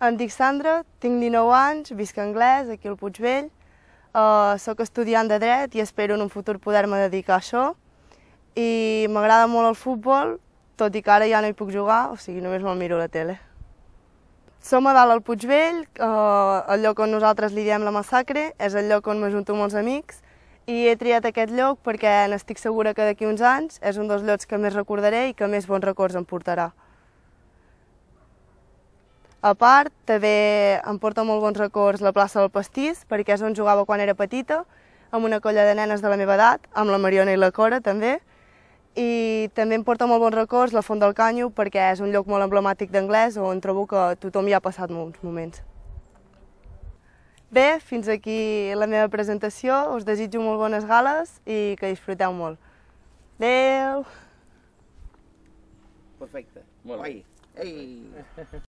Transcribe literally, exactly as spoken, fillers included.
Em dic Sandra, tinc dinou anys, visc a Anglès, aquí al Puigvell. Uh, soc estudiant de dret i espero en un futur poder-me dedicar a això. I m'agrada molt el futbol, tot i que ara ja no hi puc jugar, o sigui, només me'l miro a la tele. Som a dalt al Puigvell, uh, el lloc on nosaltres li diem la Massacre, és el lloc on m'ajunto amb els amics, i he triat aquest lloc perquè n'estic segura que d'aquí uns anys és un dels llocs que més recordaré i que més bons records em portarà. A part, també em porta molt bons records la plaça del Pastís, perquè és on jugava quan era petita, amb una colla de nenes de la meva edat, amb la Mariona i la Cora també, i també em porta molt bons records la Font del Canyo, perquè és un lloc molt emblemàtic d'Anglès on trobo que tothom hi ha passat molts moments. Bé, fins aquí la meva presentació, us desitjo molt bones gales i que disfruteu molt. Adéu! Perfecte, molt bé. Ei!